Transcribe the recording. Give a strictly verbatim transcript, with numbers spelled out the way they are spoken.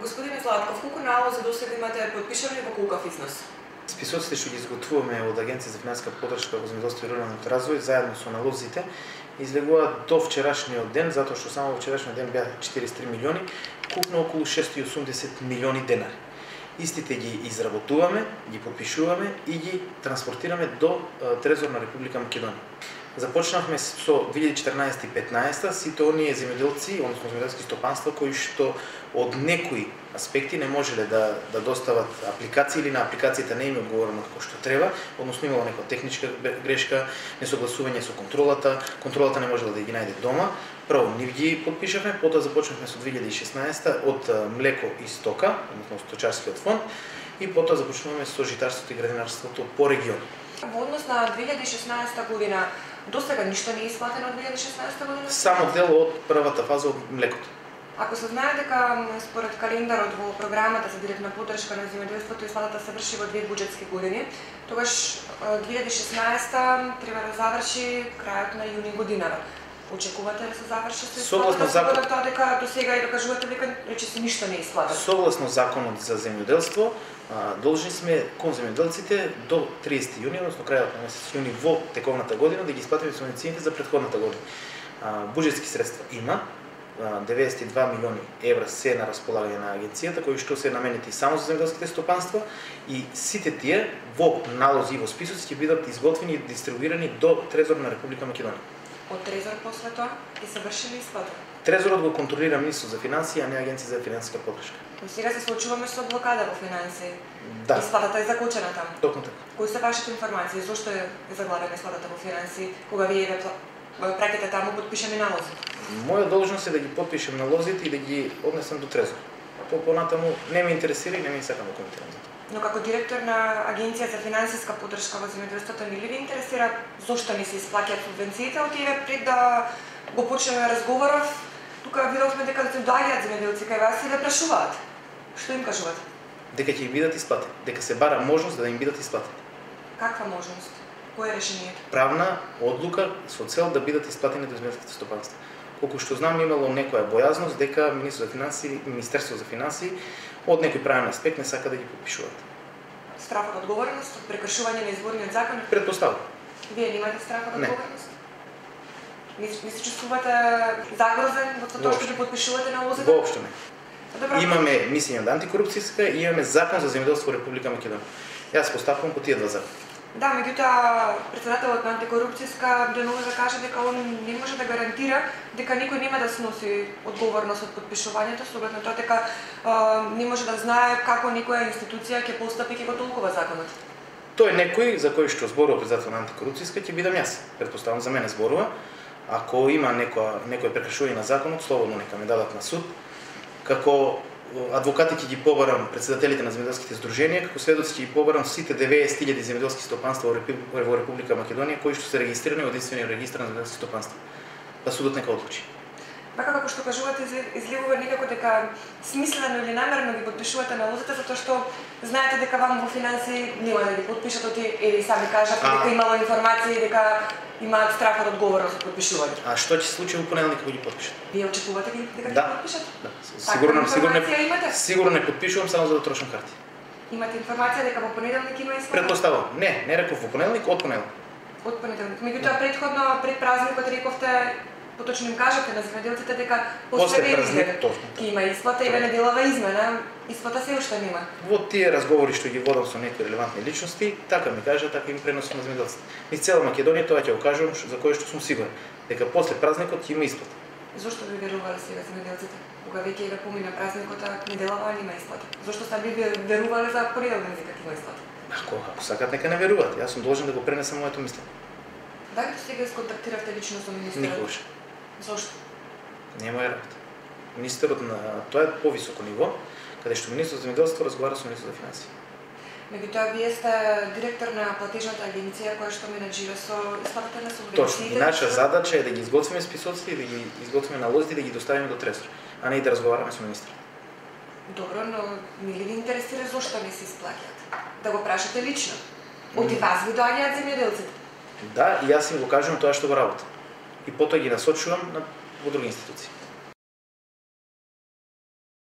Господине Златков, колку налози досега имате подпишани во колкав износ? Списоците што ги изготвуваме од Агенција за финансиска поддршка во земјоделство и руралниот развој заедно со налозите излегуваат до вчерашниот ден, затоа што само во вчерашниот ден беа четириесет и три милиони, купно околу шестстотини и осумдесет милиони денари. Истите ги изработуваме, ги подпишуваме и ги транспортираме до Трезор на Република Македонија. Започнавме со две илјади и четрнаесета и петнаесета сите оние земјоделци, односно земјоделски стопанства кои што од некои аспекти не можеле да да достават апликации или на апликацијата не им е одговорено како што треба, односно имало некоја техничка грешка, несогласување со контролата, контролата не можела да ги најде дома. Прво нив ги подпишавме, потоа започнавме со две илјади и шеснаесета од млеко и стока, односно сточарскиот фонд, и потоа започнуваме со житарството и градинарството по регион. Во однос на две илјади и шеснаесета година, досега ништо не е исплатено од две илјади и шеснаесета година? Само дел од првата фаза од млекото. Ако се знае дека според календарот во програмата за директна поддршка на земјоделството исплатата се врши во две буџетски години, тогаш две илјади и шеснаесета треба да заврши крајот на јуни годинава. Очекувате да се заврши се согласно законот тоа дека до сега и докажувате дека речиси ништо не е исплатено? Согласно законот за земјоделство, должни сме кон земјоделците до триесети јуни, односно крајот на месец јуни во тековната година да ги исплатиме субвенциите за претходната година. Буџетски средства има, деветдесет и два милиони евра се на располагање на агенцијата, кои што се наменети само за земјоделските стопанства, и сите тие во налози и во списоци ќе бидат изготвени и дистрибуирани до Трезор на Република Македонија. Од Трезор после тоа и се врши ли исплата? Трезорот го контролира Министерството за финансии, а не Агенција за финансиска поддршка. Но сега се случуваме со блокада во финансии. Да. Исплатата е закочена таму. Токму така. Кои се вашите информации? Зошто е заглавена исплатата во финансии, кога вие праките таму подпишани налози? Моја должност е да ги подпишем налозите и да ги однесам до Трезор. По понатаму не ме интересира и не ме сакам да коментирам за тоа. Но како директор на Агенција за финансиска поддршка во земјоделството, не ли ви интересира зошто не се исплаќаат субвенциите? Отиве пред да го почнеме разговоров, тука видовме дека се доаѓаат земјоделци кај вас и ве прашуваат. Што им кажувате? Дека ќе им бидат исплатени, дека се бара можност да им бидат исплатени. Каква можност? Кое е решението? Правна одлука со цел да бидат исплатени до земјоделските стопанства. Колку што знам, имало некоја бојазност дека Министерството за финансии, Министерството за финансии од некој правен аспект не сака да ги подпишуваат. Страф од одговорност, прекршување на изборниот закон? Предпоставам. Вие немате страф од Не. одговорност? Не, не се чувствувате загрозен во тоа што ги подпишувате налозите? Воопшто не. Добро. Имаме мисија на антикорупцијска и имаме закон за земјоделство во Република Македонија. Јас поставувам по тие два закона. Да, меѓутоа претседателот на антикорупцијска денува да каже дека он не може да гарантира дека никој нема да сноси одговорност од подпишувањето, со оглед на тоа дека а, не може да знае како некоја институција ќе постапи и ќе го толкува законот. Тој некој за кој што зборува претседател на антикорупцијска ќе бидам јас. Претпоставам за мене зборува. Ако има некоја некој прекршување на законот, слободно нека ме дадат на суд. Како адвокати ќе ги побарам претседателите на земјоделските здруженија, како сведоци ќе ги побарам сите деветдесет илјади земјоделски стопанства во Република Македонија кои што се регистрирани во единствениот регистар на земјоделски стопанства. Па судот нека одлучи. Така како што кажувате, изливува некако дека смислено или намерно ги подпишувате налозите, затоа што знаете дека вам во финансии нема да ги подпишат, оти или сами кажавте дека имало информации дека имаат страф од одговорност од подпишување. А што ќе се случи во понеделник кога ги подпишат? Вие очекувате дека ќе Да. подпишат? Да. Сигурно, сигурно, имате? сигурно не подпишувам само за да трошам карти. Имате информација дека во понеделник има исплата? Предпоставам. Не, не реков во понеделник, од понеделник. Од понеделник. Меѓутоа претходно пред празникот рековте, поточно им кажете на земјоделците дека после празник ќе има исплата и ве неделава измена, исплата се уште нема. Во тие разговори што ги водам со некои релевантни личности, така ми кажа, така им преносам на земјоделците. Низ цела Македонија тоа ќе го кажам за кое што сум сигурен, дека после празникот ќе има исплата. Зошто ви верувале сега земјоделците? Кога веќе ве помина празникот, а неделава нема исплата. Зошто сте ви верувале за понеделник дека ќе има исплата? Ако, ако сакат, нека не веруваат. Јас сум должен да го пренесам моето мислење. Дали до сега сконтактиравте лично со министерот? Никогаш. Зошто? Не е моја работа. Министерот на тоа е повисоко ниво, каде што министерот за земјоделство разговара со министерот за финансии. Меѓутоа, вие сте директор на платежната агенција која што менаџира со исплатата на субвенциите. Точно. И наша задача е да ги изготвиме списоците и да ги изготвиме налозите и да ги доставиме до Трезор, а не и да разговараме со министерот. Добро, но не ли ви интересира зошто не се исплаќаат? Да го прашате лично. Оти вас ви доаѓаат земјоделците. Да, и јас им го кажувам тоа што го работам. И потоа ги насочувам на во други институции.